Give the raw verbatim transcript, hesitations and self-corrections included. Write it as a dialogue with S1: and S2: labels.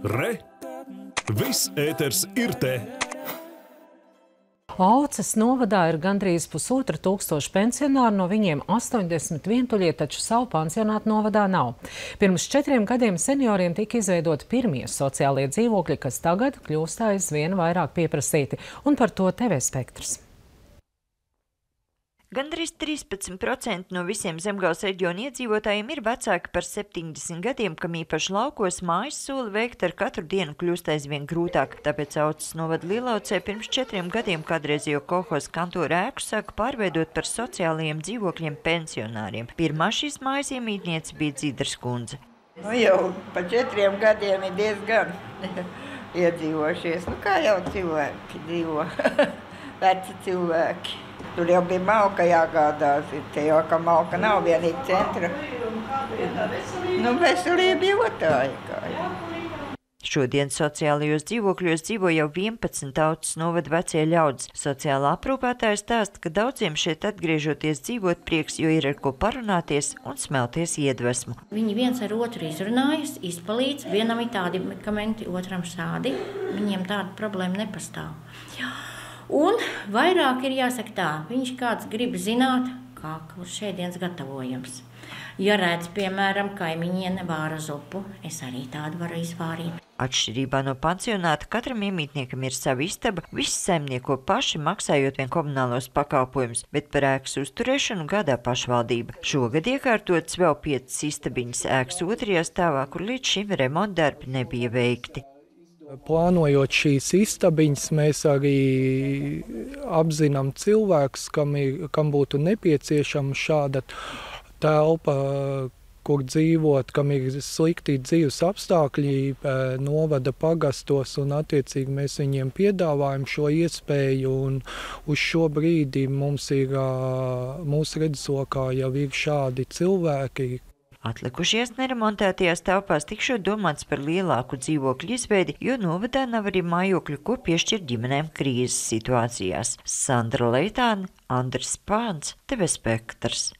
S1: Re! Viss ēters ir te!
S2: Auces novadā ir gandrīz pusotra tūkstoša pensionāru, no viņiem astoņdesmit vientuļie, taču savu pansionātu novadā nav. Pirms četriem gadiem senioriem tika izveidoti pirmie sociālie dzīvokļi, kas tagad kļūst aizvien vairāk pieprasīti, un par to T V Spektrs.
S3: Gandrīz trīspadsmit procenti no visiem Zemgales reģiona iedzīvotājiem ir vecāki par septiņdesmit gadiem, kam īpaši laukos mājas soli veikt ar katru dienu kļūst aizvien grūtāk. Tāpēc Auces novada Lielaucē pirms četriem gadiem kādreizējo kolhoza kantora ēku sāka pārveidot par sociālajiem dzīvokļiem pensionāriem. Pirmā šīs mājas iemītniece bija Dzidras kundze.
S4: Nu, jau pa četriem gadiem ir diezgan iedzīvojušies. Nu, kā jau cilvēki dzīvo, veci cilvēki. Tur jau bija malka jāgādās, te jau, ka malka nav vienīgi centra. Nu, veselība jotāja.
S3: Šodien sociālajos dzīvokļos dzīvo jau vienpadsmit Auces novada vecie ļaudis. Sociālā aprūpētāja stāsta, ka daudziem šeit atgriežoties dzīvot prieks, jo ir ar ko parunāties un smelties iedvesmu.
S5: Viņi viens ar otru izrunājas, izpalīdz, vienam ir tādi medikamenti, otram šādi. Viņiem tāda problēma nepastāv. Jā. Un vairāk ir jāsaka tā, viņš kāds grib zināt, kā šēdienas gatavojams. Ja redz, piemēram, kaimiņiene vāra zupu, es arī tādu varu izvārīt.
S3: Atšķirībā no pansionāta katram iemītniekam ir sava istaba, visi saimnieko paši, maksājot vien komunālos pakalpojumus, bet par ēkas uzturēšanu gādā pašvaldība. Šogad iekārtotas vēl piecas istabiņas ēkas otrajā stāvā, kur līdz šim remontdarbi nebija veikti.
S6: Plānojot šīs istabiņas, mēs arī apzinām cilvēkus, kam, ir, kam būtu nepieciešama šāda telpa, kur dzīvot, kam ir slikti dzīves apstākļi novada pagastos, un attiecīgi mēs viņiem piedāvājam šo iespēju, un uz šo brīdi mums ir, mūsu redzeslokā jau ir šādi cilvēki.
S3: Atlikušies neremontētajās telpās tikšot domāts par lielāku dzīvokļu izveidi, jo novadā nav arī mājokļu, ko piešķir ģimenēm krīzes situācijās. Sandra Leitāne, Andris Pāns, T V Spektrs.